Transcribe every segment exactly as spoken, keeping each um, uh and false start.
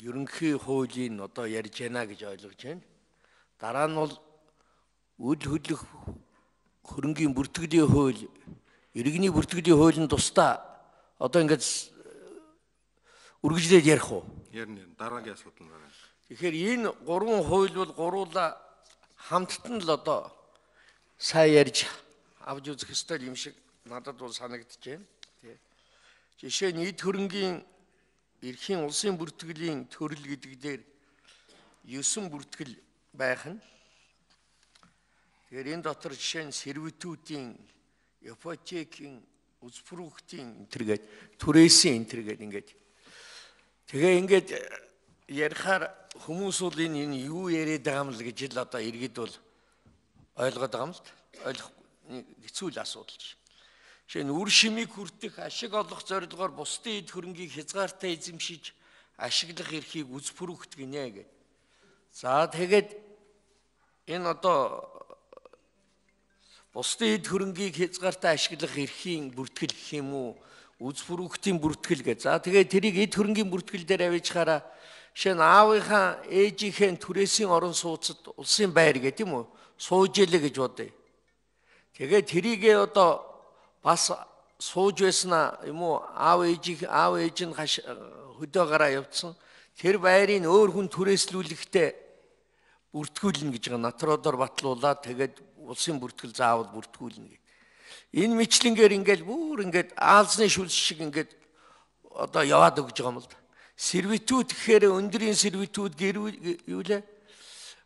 ерөнхий хуулийн одоо ярьж байна гэж ойлгож байна. Дараа нь бол үл хөдлөх хөрөнгийн бүртгэлийн хууль, иргэний бүртгэлийн хуулийн тусдаа одоо ингээд үргэлжлээд ярих уу? Ярина. Дараагийн асуудал нь байна. Тэгэхээр энэ гурван хууль бол гуруула хамттан л одоо сайн ярьж авч үзэх ёстой юм шиг надад бол санагдаж байна. Жишээ нь эд хөрөнгийн эрхийн улсын бүртгэлийн төрөл гэдэг дээр ёсон бүртгэл байх нь. Тэгэхээр энэ дотор жишээ нь сервитутийн, ипотекийн, үзбүрүүхтийн энтергээд түрээсийн энтергээд ингээд. Тэгээ ингээд ярихаар хүмүүс бол энэ энэ юу яриад байгаа юм л гэж л одоо иргэд бол ойлгоод байгаа юм л ойлгох хэцүү л асуудал чинь. Жишээ нь үр шимийг хүртэх ашиг олох зорилгоор бусдын эд хөрөнгийг хязгаартай эзэмшиж ашиглах эрхийг үзбүрүүхт гинэ гэдэг. За тэгээд энэ одоо бусдын эд хөрөнгийг хязгаартай ашиглах эрхийн бүртгэл гэх юм уу, үзбүрүүхтийн бүртгэл гэж. За тэгээд тэрийг эд хөрөнгийн бүртгэл дээр авчихаараа жишээ нь аавынхаа ээжийнхээ түрээсийн орон сууцад улсын байр гэдэг юм уу, сууж илээ гэж бодъё. Тэгээд тэрийгээ одоо бас сууж байснаа юм уу, аав ээж аав ээж нь хөдөө гараа явцсан. Тэр байрыг өөр хүн түрээслүүлэхдээ бүртгүүлнэ гэж байгаа. Натродоор батлуулаад тэгээд улсын бүртгэл заавал бүртгүүлнэ гэдэг. Энэ мэтлэнгээр ингээд бүр ингээд аалзны шүлс шиг ингээд одоо яваад өгж байгаа юм л да. Сервитут гэхээр өндрийн сервитут юу лээ?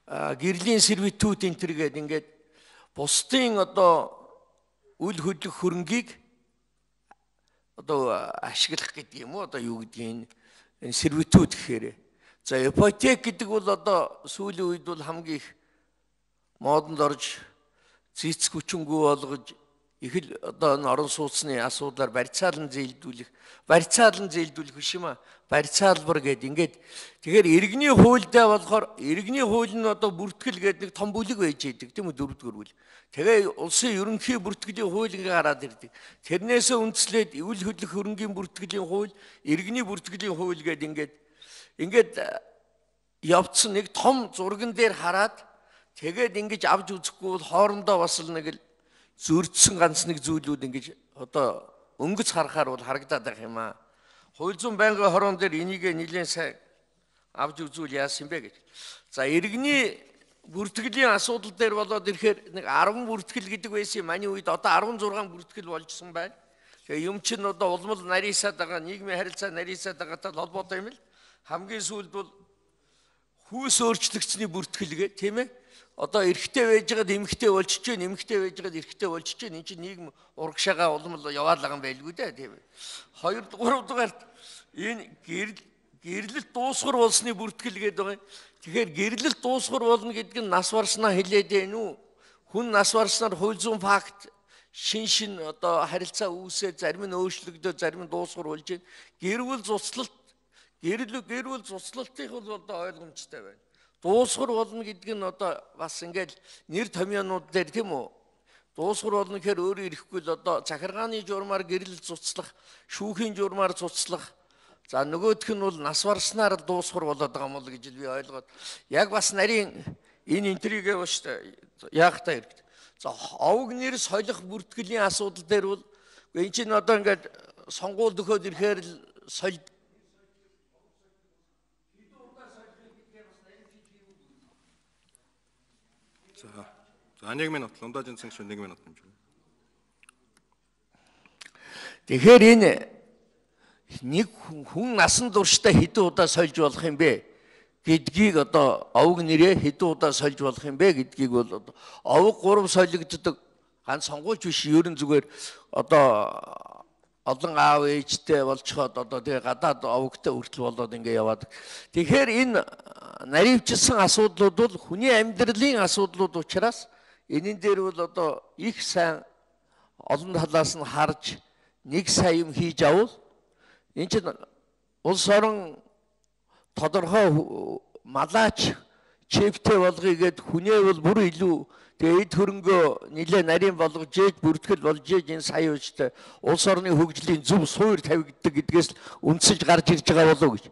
Гэрлийн сервитут энэ төр гэдэг ингээд бусдын одоо үл хөдлөх хөрөнгийг одоо ашиглах гэдэг юм уу, одоо юу гэдгийг энэ сервитут гэхээр. За ипотек гэдэг бол одоо сүүлийн үед бол хамгийн их модонд орж зэц хүчингүй болгож их л одоо орон сууцны асуудлаар барьцаалан зээлдүүлэх, барьцаалан зээлдүүлэх биш юм аа, барьцаалбар гэдэг ингээд. Тэгэхээр иргэний хуульдаа болохоор иргэний хууль нь одоо бүртгэл гэдэг нэг том бүлэг байж идэг тийм үү, дөрөвдүгээр бүл. Тэгээ улсын ерөнхий бүртгэлийн хууль ингээ гараад ирдэг. Тэрнээсээ үндслээд үл хөдлөх хөрөнгийн бүртгэлийн хууль, иргэний бүртгэлийн хууль гэдэг ингээд ингээд явцсан нэг том зурган дээр хараад тэгээд ингэж авч үзэхгүй бол хоорондоо бас л нэг л зөрчсөн ганц нэг зүйлүүд ингэж одоо өнгөц харахаар бол харагдаад байх юм аа. Хууль зүйн байнгын хорон дээр энийг нэлээд сайн авч үзүүл яасан бэ гэж. За иргэний бүртгэлийн асуудал дээр болоод ирэхээр нэг арван бүртгэл гэдэг байсан юм. Маний үед одоо арван зургаан бүртгэл болжсон байна. Тэгээ юм чинь одоо улмал нарийсаад байгаа, нийгмийн харилцаа нарийсаад байгаатай холбоотой юм л. Хамгийн сүүлд бол хүүс өөрчлөгчсөний бүртгэл гэ тийм ээ. Одоо эрэгтэй байж байгаад эмэгтэй болчихж байна, эмэгтэй байж байгаад эрэгтэй болчихж байна. Энд чинь нийгэм урагшаага улмал яваад байгаа юм байлгүй дээ тийм ээ. Хоёр гурав дугаарт энэ гэрэл гэрлэлт дуусгар болсны бүртгэл гэдэг байгаа юм. Тэгэхээр гэрлэлт дуусгар болно гэдэг нь нас барснаа хэлээд байна уу? Хүн нас барснаар хууль зүйн факт шин шин одоо харилцаа үүсээ, зарим нь өөрчлөгдөө, зарим нь дуусгар болж байна. Гэрвэл цуцлалт, гэрэл гэрвэл цуцлалтын бол одоо ойлгомжтой байна. Дуусгар болно гэдэг нь одоо бас ингээд нэр томьёонууд дээр тийм үү? Дуусгар болно гэхээр өөрөө ирэхгүй л одоо захиргааны журмаар гэрэл цуцлах, шүүхийн журмаар цуцлах. За нөгөөх нь бол нас барснаар дуусгар болоод байгаа юм л гэж би ойлгоод яг бас нарийн энэ интригээ бааш яах та хэрэгтэй. За овг нэр солих бүртгэлийн асуудал дээр бол энэ чинь одоо ингээд сонгуульд өгөхөд ирэхээр л соль За нэг минут лундажин цэнг шүү нэг минут юм шүү. Тэгэхээр энэ нэг хүн насан туршдаа хэдэн удаа сольж болох юм бэ гэдгийг одоо овг нэрээ хэдэн удаа сольж болох юм бэ гэдгийг бол одоо овг гурав солигддог ганц сонгуульч биш, ерөн зүгээр одоо олон аав ээжтэй болчиход одоо тэгээ гадаад овгтой хүртэл болоод ингэ яваад. Тэгэхээр энэ наривчилсан асуудлууд бол хүний амьдралын асуудлууд учраас энэн дээр бол одоо их сайн олон талаас нь харж нэг сайн юм хийж авал энэ чинь улс орон тодорхой малаач чиптэй болгоё гэд хүнээ бол бүр илүү тэгээ эд хөрөнгөө нилээ нарийн болгож ээж бүртгэл болж ээж энэ сая ууштай улс орны хөгжлийн зөв суур тавигддаг гэдгээс үндсэж гарч ирж байгаа болов гэж.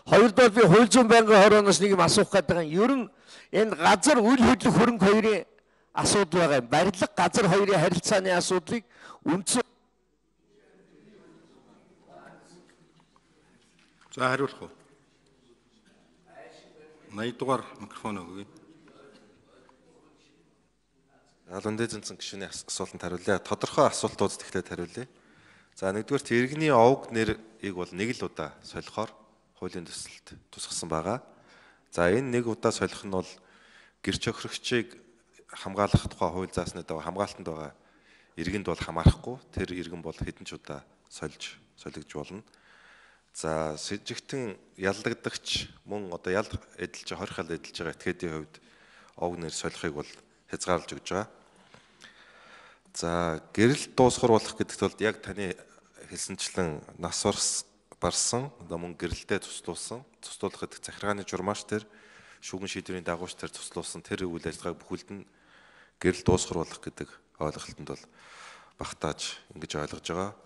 Хоёрдугаар би хууль зүйн байнгын хорооноос нэг юм асуух гэдэг юм. Ер нь энэ газар үйл хөдлөх хөрөнгө хоёрын асуудал байгаа юм. Барилга газар хоёрын харилцааны асуудлыг үндсэн. За хариулах уу? наяд дугаар микрофон өгье. Албан дэзэнцэн гишүүний асуултанд хариулъя. Тодорхой асуултууд тэгэхээр хариулъя. За нэгдүгээр иргэний овг нэрийг бол нэг л удаа солихоор хуулийн төсөлд тусгасан байгаа. За энэ нэг удаа солих нь бол гэрч охирогчийг хамгаалах тухай хууль заасны дагуу хамгаалтанд байгаа иргэнд бол хамаарахгүй. Тэр иргэн бол хэдэн ч удаа сольж солигдж болно. За сэжигтэн ялдагдагч мөн одоо ял эдэлж хорих ял эдэлж байгаа этгээдийн хувьд овг нэр солихыг бол хязгаарлаж өгж байгаа. За гэрэл дуусгаруулах гэдэгт бол яг таны хэлсэнчлэн нас барсан одоо мөн гэрэлтэй туслуулсан туслуулах гэдэг захиргааны журмаач тэр шүүгэн шийдвэрийн дагууч тэр туслуулсан тэр үйл ажиллагааг бүхэлд нь гэрэл дуусгаруулах гэдэг ойлголтод бол багтааж ингэж ойлгож байгаа.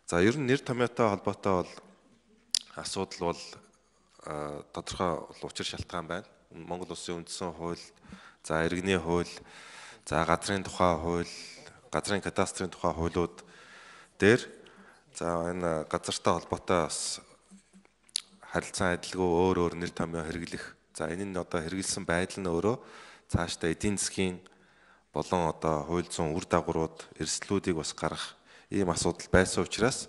За ер нь нэр томьёотой холбоотой бол асуудал бол тодорхой учир шалтгаан байна. Монгол Улсын үндсэн хууль, за иргэний хууль, за газрын тухай хууль, газрын кадастрын тухай хуулиуд дээр за энэ газартай холбоотой бас харилцан адилгүй өөр өөр нэр томьёо хэрэглэх. За энэ нь одоо хэрэгэлсэн байдал нь өөрөө цаашдаа эдийн засгийн болон одоо хууль зүйн үр дагаврууд, эрсдлүүдийг бас гаргах ийм асуудал байсан учраас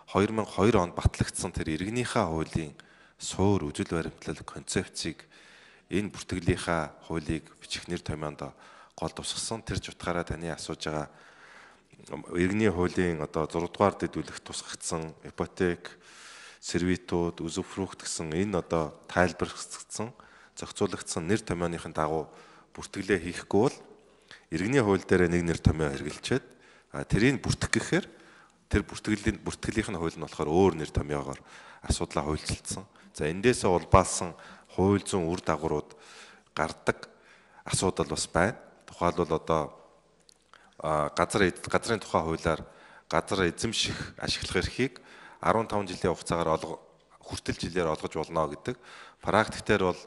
хоёр мянга и хоёр онд батлагдсан тэр иргэнийхээ хуулийн суур үзэл баримтлал концепцийг энэ бүртгэлийнхаа хуулийг бичих нэр томьёонд гол тусгасан. Тэр ч утгаараа таны асууж байгаа иргэний хуулийн одоо зураг дугаар дэдвүлэх тусгагдсан ипотек, сервитууд, үзүфрүүхт гэсэн энэ одоо тайлбарлагдсан, зохицуулагдсан нэр томьёоныхын дагуу бүртгэлээ хийхгүй бол иргэний хууль дээр нэг нэр томьёо хэрэгжилчээд тэрийг бүртгэх гэхээр тэр бүртгэлийн бүртгэлийнх нь хууль нь болохоор өөр нэр томьёогоор асуудлаа хуульчилсан. За эндээсээ улбаалсан хууль зүйн үр дагаврууд гардаг асуудал бас байна. Тухайлбал одоо газар газрын тухай хуулиар газар эзэмших ашиглах эрхийг арван таван жилийн хугацаагаар хүртэл жилээр олгож болно гэдэг. Практиктээр бол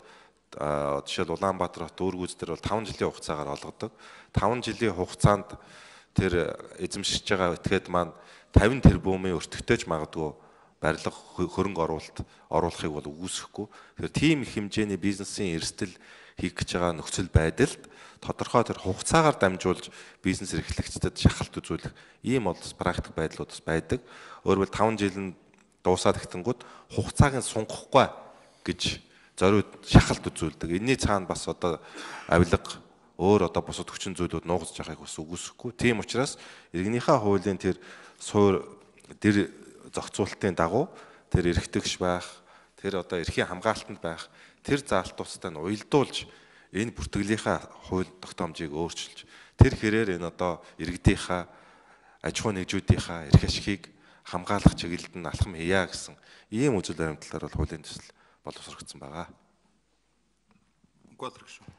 жишээл Улаанбаатар хот дүүргүүз дээр бол таван жилийн хугацаагаар олгодог. таван жилийн хугацаанд тэр эзэмшиж байгаа этгээд маань тавин тэрбумын өртөгтэйч магадгүй барилга хөрөнгө оруулалт оруулахыг бол үүсэхгүй. Тэгэхээр тийм их хэмжээний бизнесийн эрсдэл хийх гэж байгаа нөхцөл байдалд тодорхой тэр хугацаагаар дамжуулж бизнес эрхлэгчдэд шахалт үзүүлэх ийм бол практик байдлууд бас байдаг. Өөрөөр таван жил нь дуусаад ихтэнгүүд хугацааг нь сунгахгүй гэж зориуд шахалт үзүүлдэг. Энийний цаана бас одоо авилга өөр одоо бусад хүчин зүйлүүд нуугдж байгааг бас үгүйсэхгүй. Тийм учраас иргэнийхээ хуулийн тэр суур тэр зохицуулалтын дагуу тэр эрхтэгч байх, тэр одоо эрхийн хамгаалтанд байх, тэр заалтуудтай нь уялдуулж энэ бүртгэлийнхаа хууль тогтоомжийг өөрчилж тэр хэрээр энэ одоо иргэдийнхаа аж ахуй нэгжүүдийнхаа эрх ашигыг хамгаалах чиглэлд нь алхам хийя гэсэн ийм үзэл баримтлалаар бол хуулийн төсөл боловсрогдсон байгаа. Гуйдрагш.